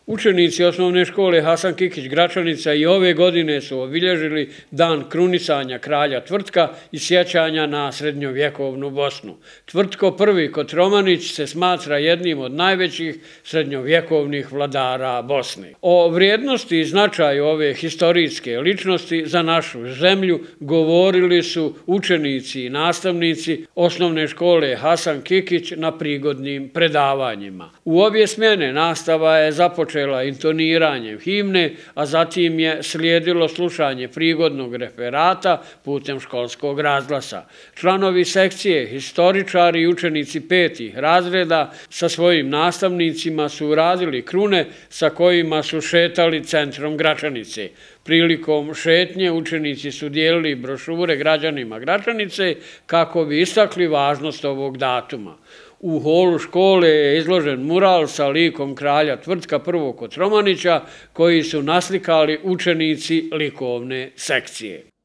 Učenici osnovne škole Hasan Kikić Gračanica i ove godine su obilježili dan krunisanja kralja Tvrtka i sjećanja na srednjovjekovnu Bosnu. Tvrtko I Kotromanić se smatra jednim od najvećih srednjovjekovnih vladara Bosne. O vrijednosti i značaju ove historijske ličnosti za našu zemlju govorili su učenici i nastavnici osnovne škole Hasan Kikić na prigodnim predavanjima. U obje smjene nastava je započela intoniranjem himne, a zatim je slijedilo slušanje prigodnog referata putem školskog razglasa. Članovi sekcije, historičari i učenici 5. razreda sa svojim nastavnicima su uradili krune sa kojima su šetali centrom Gračanice. Prilikom šetnje učenici su dijelili brošure građanima Gračanice kako bi istakli važnost ovog datuma. U holu škole je izložen mural sa likom kralja Tvrtka I Kotromanića koji su naslikali učenici likovne sekcije.